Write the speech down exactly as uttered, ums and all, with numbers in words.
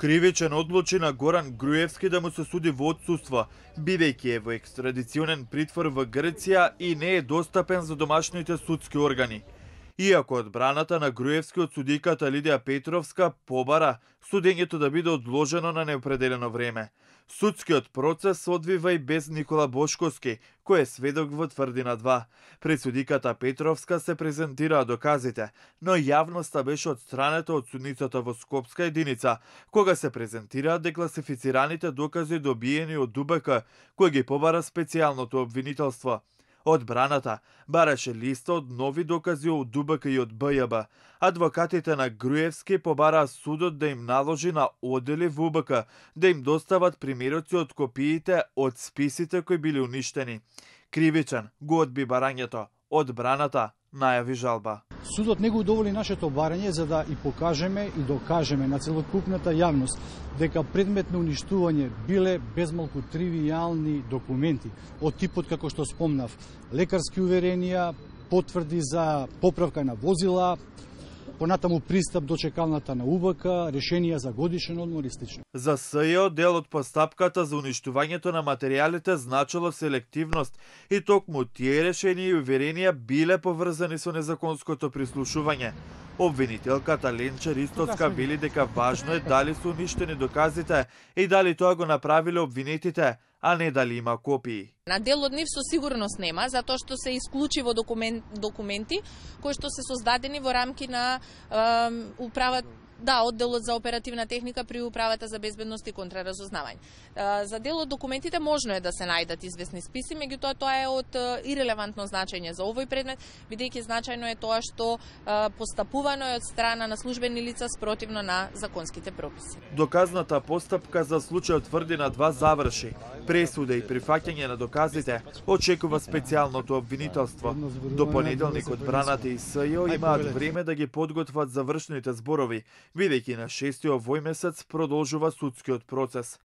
Кривичен одлучи на Горан Груевски да му се суди во отсуство, бидејќи е во екстрадиционен притвор во Грција и не е достапен за домашните судски органи. Иако одбраната на Груевски од судиката Лидија Петровска побара судењето да биде одложено на неопределено време. Судскиот процес се одвива и без Никола Бошковски, кој е сведок во тврдина два. Пред судиката Петровска се презентираа доказите, но јавноста беше отстранета од судницата во Скопска единица, кога се презентираа декласифицираните докази добиени од ДУБК, кој ги побара специјалното обвинителство. Одбраната бараше листа од нови докази од ДУБК и од БЈБ. Адвокатите на Груевски побараа судот да им наложи на одели во УБК да им достават примероци од копиите од списите кои били уништени. Кривичен го одби барањето, одбраната најави жалба. Судот не го удоволи нашето барање за да и покажеме и докажеме на целокупната јавност дека предмет на уништување биле безмалку тривијални документи од типот како што спомнав, лекарски уверенија, потврди за поправка на возила, понатаму пристап до чекалната на УБК, решенија за годишен одмор и слично. За СЈО дел од постапката за уништувањето на материјалите значило селективност и токму тие решенија и уверенија биле поврзани со незаконското прислушување. Обвинителката Ленче Ристоцка вели дека важно е дали се уништени доказите и дали тоа го направиле обвинетите, а не дали има копии. На дел од нив со сигурност нема, затоа што се исклучиво документ, документи кои што се создадени во рамки на е, управа Да, одделот за оперативна техника при управата за безбедност и контраразузнавање. За дел од документите можно е да се најдат известни списи, меѓутоа тоа е од ирелевантно значење за овој предмет, бидејќи значајно е тоа што постапувано е од страна на службени лица спротивно на законските прописи. Доказната постапка за случајот тврдина два заврши. Пресуда и прифаќање на доказите очекува специјалното обвинителство. До понеделник одбраната и СЈО имаат време да ги подготват завршните зборови, бидејќи на шести овој месец продолжува судскиот процес.